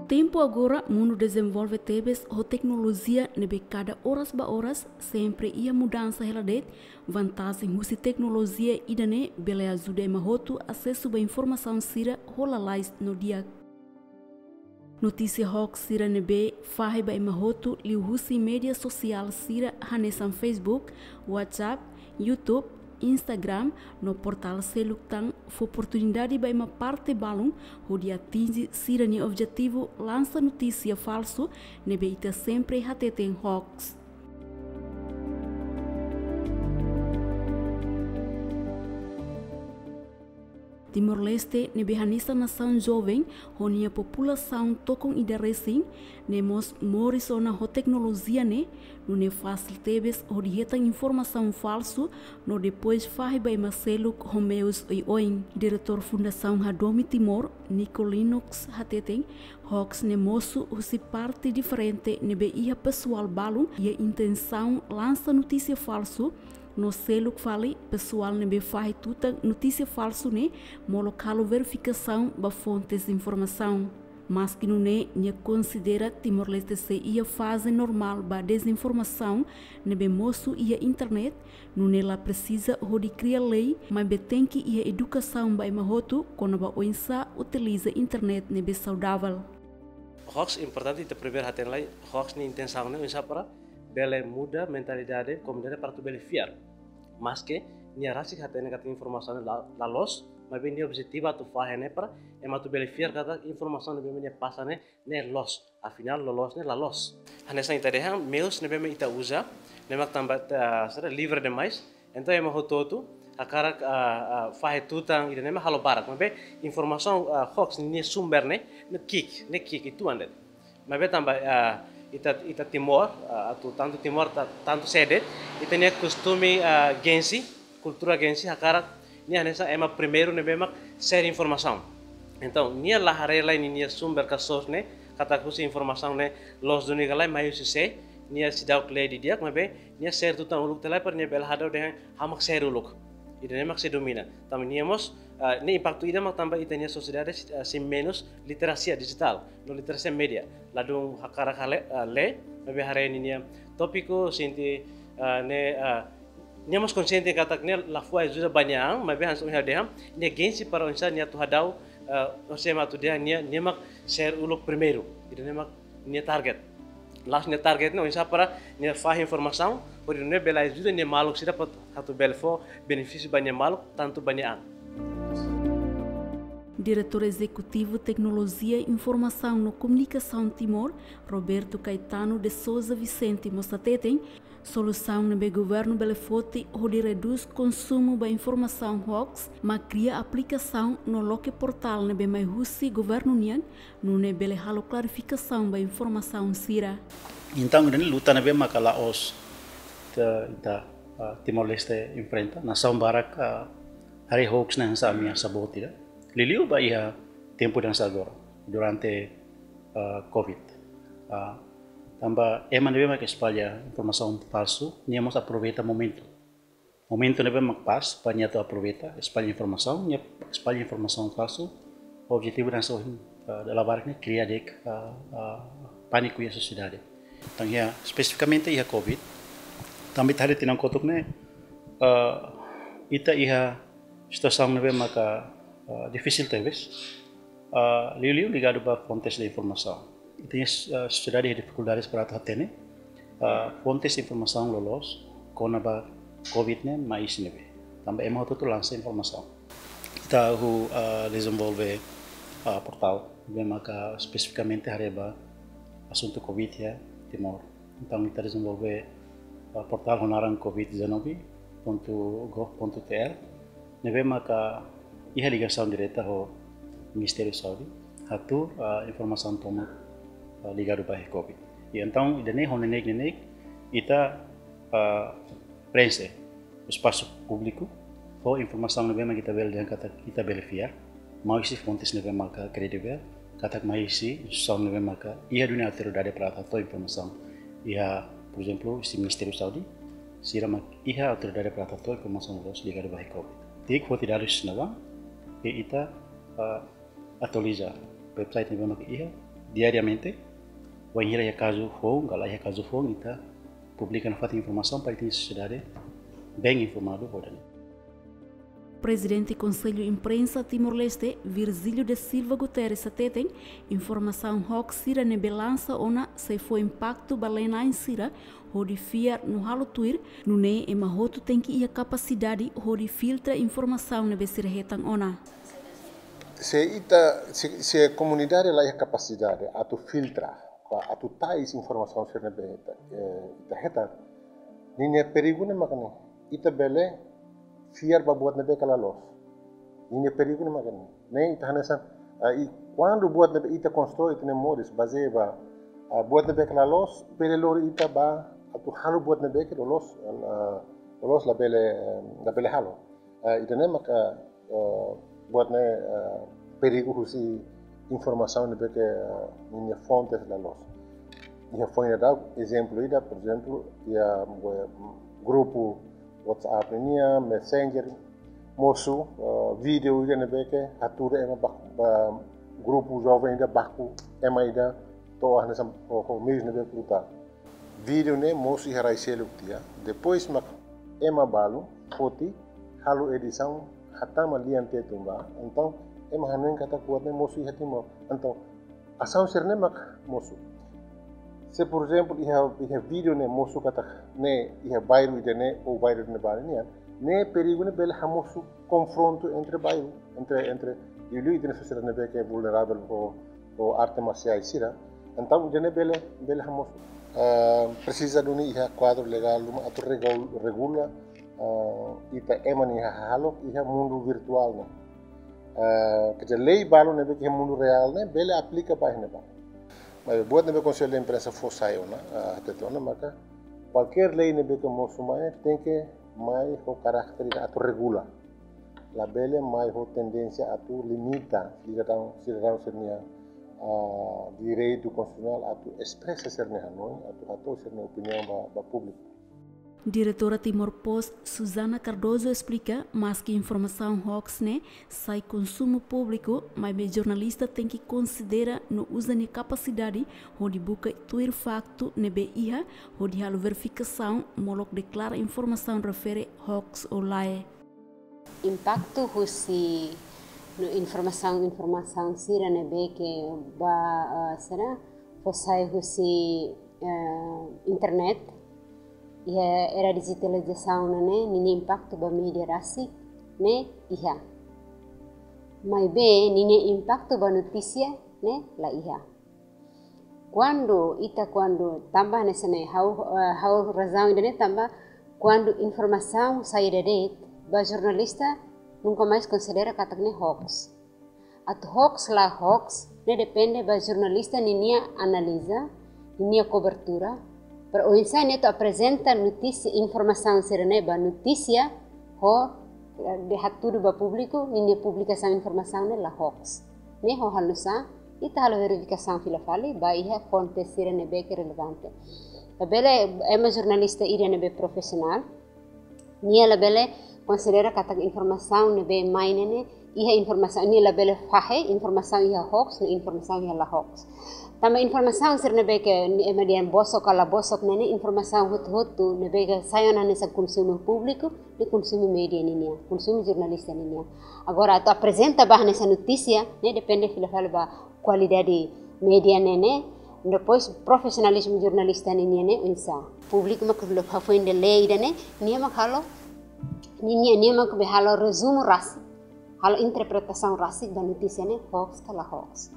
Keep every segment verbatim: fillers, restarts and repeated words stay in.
Tempu agora, mundu dezenvolve tebes ho teknolojia ne'ebé kada oras ba oras sempre iha mudansa hela de'it. Vantajen husi teknolojia ida-ne'e bele ajuda ema hotu asesu ba informasaun sira ho lalais no di'ak. Notísia hoax sira ne'ebé fahe ba ema hotu liuhusi média sosiál sira hanesan Facebook, WhatsApp, YouTube, Instagram, no portál seluk tan fó oportunidade ba ema parte balun hodi atinje sira-nia objetivu lansa notísia falsu ne'ebé ita sempre hateten hoax. Timor-Leste ne'ebé hanesan nasaun joven ho nia populasaun tokon ida resin, ne'e mós moris ona ho teknolojia ne'e, nune'e fasil tebes hodi hetan informasaun falsu no depois fahe ba ema seluk ho meius oioin. Diretór Fundasaun Hadomi Timor, Nico Linux, hateten, hoax ne'e mosu husi parte diferente ne'ebé iha pesoál balun iha intensaun lansa notísia falsu, no seluk fali pesoál ne'ebé fahe tutan notísia falsu ne'e molok halo verifikasaun ba fontes informasaun. Maski nune'e, nia konsidera Timor-Leste sei iha faze normál ba dezinformasaun ne'ebé mosu iha internet, nune'e la presiza hodi kria lei, maibé tenke iha edukasaun ba ema hotu kona-ba oinsá utiliza internet ne'ebé saudavel. Hoax importante ita primeiru hatene lai, hoax nia intensaun ne'e oinsá para bele muda mentalidade komunidade para atu bele fiar. Maske nia rasik hatene katak informasaun ne'e la, la loos, maibé nia objetivu atu fahe ne'e para ema atu bele fiar katak informasaun ne'ebé nia pasa ne'e, ne'e loos. Afinál, loloos ne'e la loos. Hanesan ita dehan, meius ne'ebé ita uza, ne'e mak tanba, ah, sira livre demais. Entaun ema hotu-hotu hakarak, ah, ah, fahe tutan ida-ne'e mak halo barak. Maibé informasaun, ah, hoax nia sumber ne'e, ne'e ki'ik, ne'e ki'ik uitoan de'it. Maibé tanba, ah, ita, ita Timor, ah, atu tantu Timor, ta-, tantu sé de'it, ita-nia kostume, ah, gengsi, kultura gengsi hakarak nia hanesan ema primeiru ne'ebé mak share informasaun. Entaun, nia la haree lai ninia sumber ka source ne'e, katak husi informasaun ne'e loos duni ka lae, mai husi sé, nia seidauk lee didi'ak, maibé nia share tutan uluk tiha lai para nia bele hadau dehan ha'u mak share uluk. Ida-ne'e mak sei domina. Tanba nia mós, ah, ne'e impaktu ida mak tanba ita-nia sosiedade, ah, sei menus literasia dijitál, no literasia média. Ladún hakarak hale, ah, lee, maibé haree ninia tópiku, sente, ah, ne'e, ah, nia mós konsiente katak nia la fó ajuda ba nia an, maibé hanesan ohin ha'u dehan, nia gengsi para oinsá nia atu hadau, ah, oinsá ema atu dehan nia, nia mak share uluk primeiru. Ida-ne'e mak nia target. La'ós nia target ne'e oinsá para nia fahe informasaun, hodi nune'e bele ajuda nia maluk sira para atu bele fó benefísiu ba nia maluk, tantu ba nia an. Diretór Ezekutivu Teknolojia Informasaun no Komunikasaun Timor, Roberto Caetano de Sousa Vicente mós hateten, solusaun ne'ebé governu bele foti hodi redús konsumu ba informasaun hoax, mak kria aplikasaun no loke portál ne'ebé mai husi governu nian, nune'e bele halo klarifikasaun ba informasaun sira. Entaun, ida-ne'e luta ne'ebé maka la'ós ita, ita, ah, Timor-Leste enfrenta. Nasaun barak, ah, haree hoax ne'e hanesan ameasa boot ida. Liuliu ba iha tempu hanesan agora, durante, ah, covid. Ah, tanba ema ne'ebé maka espalla informasaun falsu, nia mós aproveita momentu. Momentu ne'ebé mak pas para nia atu aproveita, espalla informasaun, nia espalla informasaun falsu, objetivu hanesan ohin, ah, dala barak ne'e kria de'it, ah, ah, pániku iha sosiedade. Entaun, iha, espesifikamente iha covid, tanba ita haree tinan kotuk ne'e, ah, ita iha situasaun ne'ebé maka, ah, difisil tebes, ah, liuliu ligadu ba fontes de informasaun. Ita-nia, ah, sosiedade iha difikuldades para atu hatene, ah, fontes informasaun loloos kona-ba covid ne'e mai husi ne'ebé. Tanba ema hotu-hotu lansa informasaun. Ita hahú, ah, dezenvolve, ah, portál ne'ebé maka espesifikamente haree ba asuntu covid iha Timor. Entaun, ita dezenvolve, ah, portál ho naran covid dezanove pontu gov pontu T R, ne'ebé maka iha ligasaun direta ho Ministériu Saúde, hatuur, ah, informasaun tomak, ah, ligadu ba iha covid. I entaun, ida-ne'e ho neineik-neineik, ita, ah, preenxe espasu públiku ho informasaun ne'ebé mak ita bele dehan katak ita bele fiar, mai husi fontes ne'ebé maka kredivel, katak mai husi instituisaun ne'ebé maka iha duni autoridade para atu hato'o informasaun. Iha, por ezemplu, husi Ministériu Saúde, sira mak iha autoridade para atu hato'o informasaun loloos ligadu ba iha covid. Di'ak, foti dadus ne'ebá, Ke ita, ah, atualiza website ne'ebé mak iha diariamente. Wainhira iha kazu foun, ka la iha kazu foun, ita publika nafatin informasaun para ita-nia sosiedade bem informadu hodi. Prezidente Konsellu Imprensa Timor-Leste, Virgílio da Silva Guterres, hateten informasaun hoax sira ne'ebé lansa ona sei fó impaktu ba lee-na'in sira hodi fiar no halo tuir, nune'e ema hotu tenke iha kapasidade hodi filtra informasaun ne'ebé sira hetan ona. Se ita, se, se komunidade la iha kapasidade atu filtra, ba atu tais informasaun sira ne'ebé ita, eh, ita hetan, ninia perigu ne'e mak ne'e, ita bele fiar ba buat ne'ebé ke la loos. Ninia perigu ne'e mak ne'e. Ne'e ita hanesan, ah, i kuandu buat ne'ebé ita konstrui ita-nia moris bazeia ba, ah, buat ne'ebé ke la loos, bele lori ita ba atu halo buat ne'ebé ke loloos, ah, loloos labele, eh, labele halo. Ah, ida-ne'e maka, eh, buat ne'e, eh, perigu husi informasaun ne'ebé ke, eh, ninia fontes la loos. Iha foin daudauk, ezemplu ida, por ezemplu, iha, eh, grupu WhatsApp nian, Messenger, mosu, eh, vídeo ida ne'ebé ke hatudu ema ba, ba grupu joven ida baku, ema ida to'o hanesan ho, ho meius ne'ebé brutal. Vídeo ne'e mosu iha rai seluk tiha. Depois mak ema balu foti halo edisaun hatama lian Tetun ba. Entaun ema hanoin katak buat ne'e mosu iha Timor. Entaun asaun sira-ne'e mak mosu. Se por ezemplu iha, iha vídeo ne'e mosu katak ne'e iha bairru ida-ne'e ou bairru ida-ne'ebá nian, ne'e perigu ne'e bele hamosu konfrontu entre bairru, entre, entre liuliu ita-nia sosiedade ne'ebé ke vulneravel ho, ho arte marsiais sira. Entaun ida-ne'e bele, bele hamosu. Ah, presiza duni iha kuadru legál ruma atu regul-, regula, ah, ita ema nia hahalok iha mundu virtuál ne'e. Ah, quer dizer, lei balu ne'ebé ke iha mundu reál ne'e bele aplika ba iha ne'ebá. Maibé buat ne'ebé Konsellu Imprensa fó sai ona, ah, hatete ona maka kualkér lei ne'ebé ke mosu mai tenke mai ho karakter atu regula. Labele mai ho tendénsia atu limita sidadaun, sidadaun sira-nia, ah, direitu konstitusionál atu espresa sira-nia hanoin, atu hato'o sira-nia opiniaun ba, ba públiku. Diretora Timor Post, Susana Cardoso, esplika, maski informasaun hoax ne'e sai konsumu públiku, maibé jornalista tenke konsidera no uza nia kapasidade hodi buka tuir faktu ne'ebé iha, hodi halo verifikasaun, molok deklara informasaun refere hoax ou lae. Impaktu husi no informasaun, informasaun sira ne'ebé ke ba, eh, sira fó sai husi, eh, internet, iha era dijitalizasaun ne'e, ninia impaktu ba média rasik ne'e iha. Maibé ninia impaktu ba notísia ne'e la iha. Kuandu ita, kuandu tanba hanesan ne'e, ha'u, eh, ha'u razaun ida-ne'e tanba kuandu informasaun sai ida de'it, ba jornalista nunka mais konsidera katak ne'e hoax. Atu hoax la hoax, ne'e depende ba jornalista ninia analiza, ninia kobertura, para oinsá nia atu aprezenta notísia, informasaun sira-ne'e ba notísia, ho, eh, de hatudu ba públiku, ninia publikasaun informasaun ne'e la hoax. Ne'e ho halo nu'usá, ita halo verifikasaun fila fali, ba iha fonte sira ne'ebé ke relevante. Labele ema jornalista ida ne'ebé profisionál, nia labele konsidera katak informasaun ne'ebé mai ne'e ne'e, iha informasaun, nia labele fahe informasaun iha hoax, no informasaun iha la hoax. Tanba informasaun sira ne'ebé ke ema dehan bosok ka la bosok ne'e ne'e, informasaun hotu-hotu ne'ebé ke sai ona hanesan konsumu públiku, ne'e konsumu média ninian, konsumu jornalista ninian. Agora, atu aprezenta ba hanesan notísia, ne'e depende fila fali ba kualidade média ne'e ne'e, depois profisionalizmu jornalista ninian ne'e oinsá. Públiku mak hafoin de'it lee ida-ne'e, nia mak halo, nia, nia, nia mak bele halo rezumu rasik, halo interpretasaun rasik ba notísia ne'e hoax ka la hoax.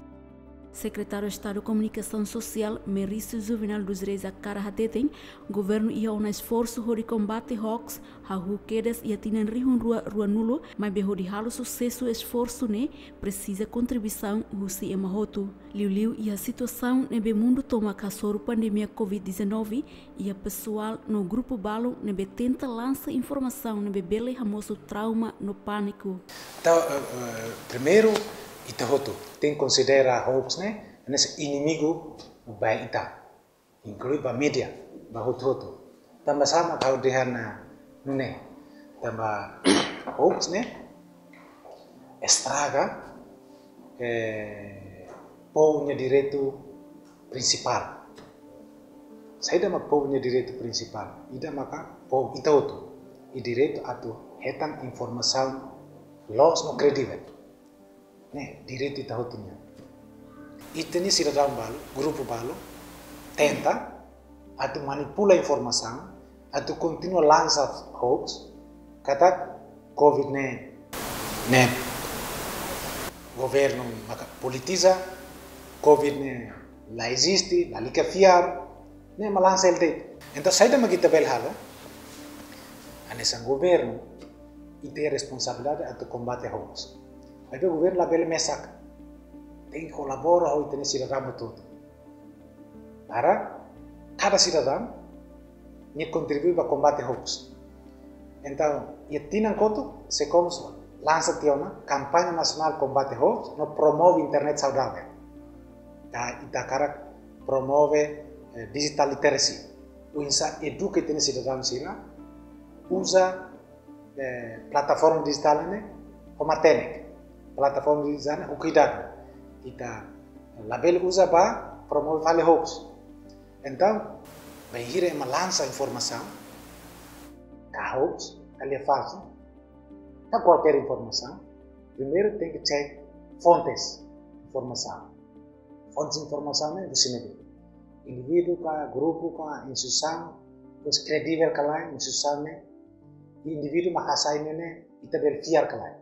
Sekretáriu Estadu Komunikasaun Sosiál, Merício Juvenal dos Reis Acara, hateten, governu iha ona esforsu hodi kombate hoax, hahú kedas iha tinan rihun rua ruanulu, maibé hodi halo susesu esforsu ne'e, presiza kontribuisaun husi ema hotu. Liuliu iha situasaun ne'ebé mundu tomak hasoru pandemia covid dezanove, iha pesoál no grupu balu ne'ebé tenta lansa informasaun ne'ebé bele hamosu trauma no pániku. Entaun, eh, eh, primeiru, ita hotu tenke konsidera hoax ne'e hanesan inimigu ba ita, inklui ba média, ba hotu-hotu. Tanba sá mak ha'u dehan, ah, nune'e. Tanba hoax ne'e, e estraga, eh, povu nia direitu prinsipál. Saida mak povu nia direitu prinsipál? Ida maka povu ita hotu iha direitu atu hetan informasaun loos no kredivel. Ne'e direitu ita hotu nian. Ita-nia sidadaun balu, grupu balu, tenta atu manipula informasaun, atu kontinua lansa hoax, katak covid ne'e, ne'e governu maka politiza, covid ne'e la eziste, lalika fiar, ne'e mak lansa hela de'it. Entaun, saida mak ita bele halo? Hanesan governu, ita iha responsabilidade atu kombate hoax. Maibé governu labele mesak. Tenke kolabora ho ita-nia sidadaun hotu. Para kada sidadaun nia kontribui ba kombate hoax. Entaun, iha tinan kotuk, SEKOMS lansa tiha ona kampaña nasionál kombate hoax no promove internet saudavel. Ita, ita hakarak promove, eh, digital literacy. Oinsá eduka ita-nia sidadaun sira uza, eh, plataforma dijitál ne'e ho matenek. Plataforma dijitál ne'e ho kuidadu. Ita labele uza ba promove fali hoax. Entaun, bainhira ema lansa informasaun, ka hoax, ka lia falsu, ka kualkér informasaun, primeiru tenke cek fontes informasaun. Fontes informasaun ne'e husi ne'ebé? Indivíduu ka, grupu ka, instituisaun, depois kredivel ka lae, instituisaun ne'e, indivíduu mak hasai ne'e, ne'e ita bele fiar ka lae?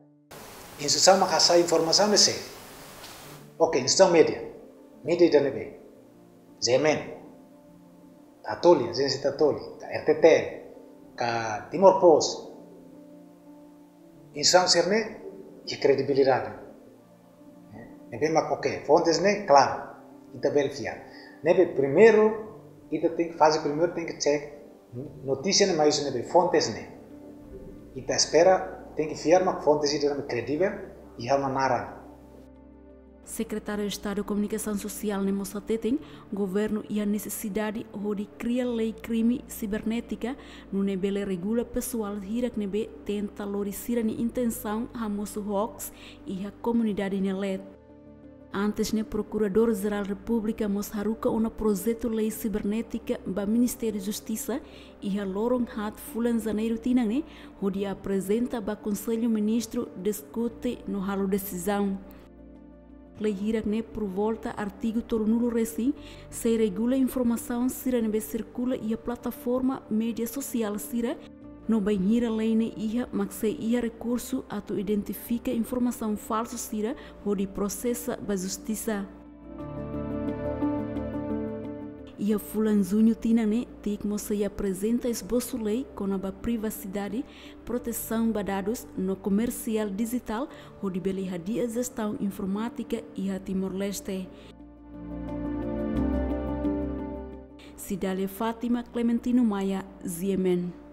Instituisaun mak hasai informasaun ne'e sé? Oke, instituisaun média. Média ida ne'ebé? G M N. Tatoli, ajénsia Tatoli, ka R T T L, ka Timor Post. Instituisaun sira-ne'e iha kredibilidade. Ne'ebé mak oke, fontes ne'e klaru, ita bele fiar. Ne'ebé primeiru, ita tenke, faze primeiru tenke cek notísia ne'e mai husi ne'ebé, fontes ne'e. Ita espera, tenke fiar mak fontes ida ne'ebé kredivel, iha ona naran. Sekretáriu Estadu Komunikasaun Sosiál ne'e mós hateten, governu iha nesesidade hodi kria lei krime sibernétika, nune'e bele regula pesoál hirak ne'ebé tenta lori sira-nia intensaun hamosu hoax iha komunidade nia leet. Antes ne'e, Prokuradór-Jerál Repúblika mós haruka ona projetu lei sibernétika ba Ministériu Justisa iha loron haat fulan Janeiru tinan ne'e, hodi aprezenta ba Konsellu Ministru diskute no halo desizaun. Lei hirak ne'e, por volta artigu tolunulu-resin, sei regula informasaun sira ne'ebé sirkula iha plataforma média sosiál sira, no bainhira lei ne'e iha, mak sei iha rekursu atu identifika informasaun falsu sira hodi prosesa ba justisa. Iha fulan Juñu tinan ne'e, TIC mós sei aprezenta esbosu lei kona-ba privasidade, protesaun ba dadus no komersiál dijitál, hodi bele hadi'a jestaun informátika iha Timor-Leste. Cidália Fátima, Clementino Maia, G M N.